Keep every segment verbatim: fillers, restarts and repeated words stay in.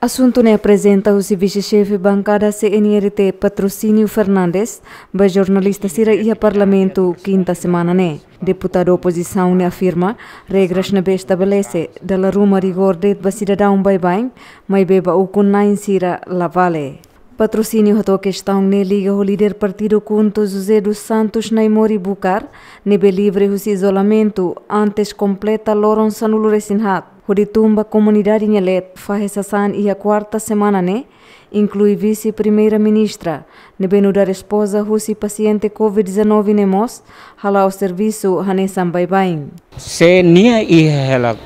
Asuntu ne'e aprezenta husi vise-xefe bankada C N R T Patrocínio Fernandes ba jornalista sira iha Parlamentu kinta semana ne'e. Deputadu opozisaun ne'e afirma, regras ne'ebé estabelese dala ruma rigór de'it ba sidadaun baibain, maibé ba ukun-na'in sira la vale. Patrocínio hato'o kestaun ne'e liga ho líder partidu KHUNTO José dos Santos Naimori Bucar, ne'ebé livre husi izolamentu antes kompleta loron sanulu-resin-haat, hodi tun ba komunidade nia leet fahe sasán iha kuarta semana ne'e, inklui vise-primeira-ministra, ne'ebé nu'udar espoza husi pasiente covid dezanove ne'e mós hala'o servisu hanesan baibain. Se nia iha hela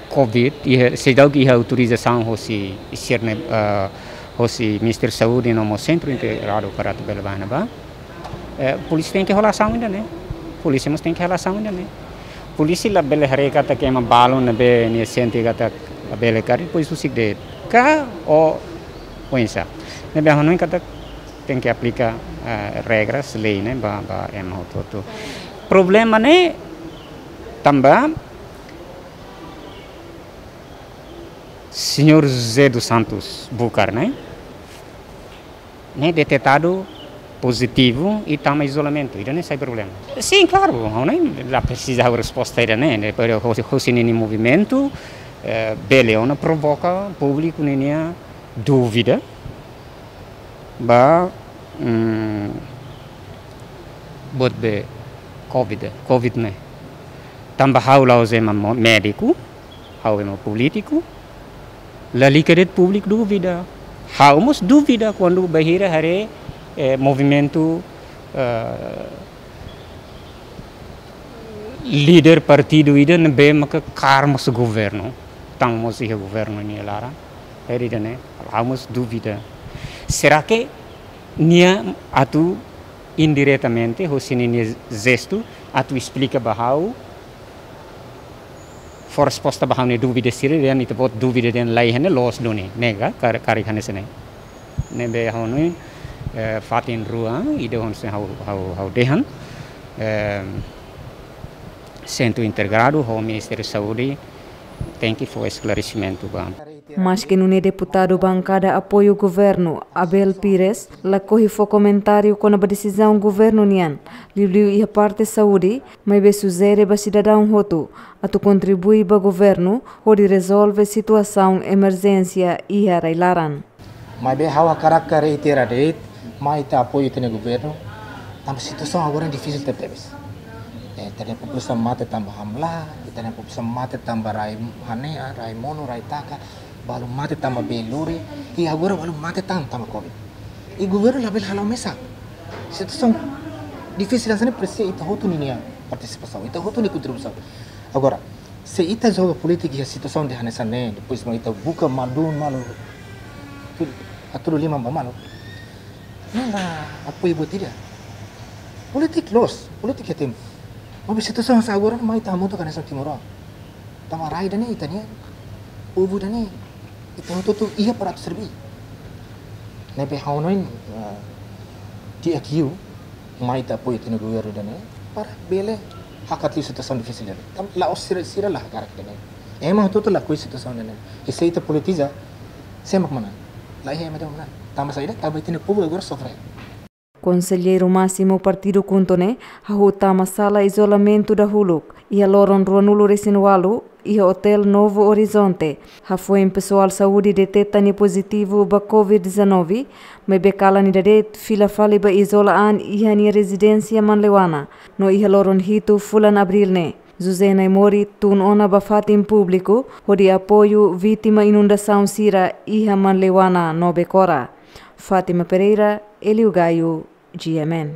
covid, iha, seidauk iha autorizasaun hosi sira-ne'e, ah, hosi Ministériu Saúde no mós Sentru Integradu para atu bele bá ne'ebá. Eh, polísia tenke hola asaun ida-ne'e. Polísia mós tenke hola asaun ida-ne'e. Polísia labele haree katak ema balun ne'ebé nia sente katak labele karik, depois husik de'it. Ka o oinsá. Ne'ebé ha'u hanoin katak tenke aplika, eh, regras, lei ne'e ba, ba ema hotu-hotu. Problema ne'e tanba señór José dos Santos Bucar ne'e, ne'e detetadu pozitivu i tama izolamentu, ida-ne'e sai problema. Sin, klaru, ha'u hanoin la presiza ha'u resposta ida-ne'e, ne'e, pero hosi, hosi ninia movimentu, eh, bele ona provoka públiku ninia dúvida ba, mm, buat be covid, covid ne'e. Tanba ha'u la'ós ema mo-, médiku, ha'u ema polítiku, lalika de'it públiku dúvida. Ha'u mós dúvida kuandu bainhira haree, eh, movimentu, eh, líder partidu ida ne'ebé maka kaer mós governu, tama mós iha governu nia laran. Haree ida-ne'e, ha'u mós dúvida. Será que nia atu indiretamente, hosi ninia jestu, atu esplika ba ha'u, fó resposta ba ha'u-nia dúvida sira, dehan ita-boot dúvida dehan laiha ne'e loos duni, ne'e ka, kar-, karik hanesan ne'e. Ne'ebé ha'u hanoin, eh, fatin rua, ida hanesan ha'u, ha'u, ha'u dehan, eh, Sentru Integradu ho Ministériu Saúde tenke fó esklaresimentu ba. Maske nune'e deputadu bankada apoiu governu, Abel Pires, lakohi fó komentáriu kona-ba desizaun governu nian, liuliu iha parte saúde, maibé sujere ba sidadaun hotu atu kontribui ba governu hodi rezolve situasaun emerjénsia iha rai-laran. Maibé ha'u hakarak reitera de'it, mai ita apoiu ita-nia governu, tanba situasaun agora difisil tebetebes. Eh, ita-nia populasaun mate tanba hamlaha, ita-nia populasaun mate tanba rai hanehan, rai monu, rai taka, balu mate tanba bee lori, i agora balu mate tan tanba covid. I governu labele hala'o mesak. Situasaun difisil hanesan ne'e presiza ita hotu ninia partisipasaun, ita hotu nia kontribuisaun. Agora, se ita joga polítika iha situasaun ida hanesan ne'e, depois mak ita buka madun malu, hatudu liman ba malu. Ne'e la apoiu buat ida. Polítika loos, polítika iha tempu. Maibé situasaun hanesan agora mai ita hamutuk hanesan timoroan. Tanba rai ida-ne'e ita-nian, povu ida-ne'e, ita hotu-hotu iha para atu serbí. Ne'ebé ha'u hanoin, eh, di'ak liu, mai ita apoiu ita-nia governu ida-ne'e, para bele hakat liu situasaun difisil ida-ne'e. Tanba la'ós sira, sira la hakarak ida-ne'e. Ema hotu-hotu lakohi situasaun ida-ne'e. I se ita politiza, sé mak manán? Laiha ema ida manán. Tanba saida? Tanba ita-nia povu agora sofre. Konselleiru másimu partidu KHUNTO ne'e hahú tama sala izolamentu dahuluk iha loron ruanulu-resin-ualu iha Hotel Novo Horizonte, hafoin pesoál saúde deteta nia pozitivu ba covid dezanove, maibé kalan ida de'it fila fali ba izola an iha nia rezidénsia Manleuana, no iha loron hitu fulan Abríl ne'e, José Naimori tun ona ba fatin públiku hodi apoiu vítima inundasaun sira iha Manleuana no Becora. Fátima Pereira, Hélio Gaio, G M N.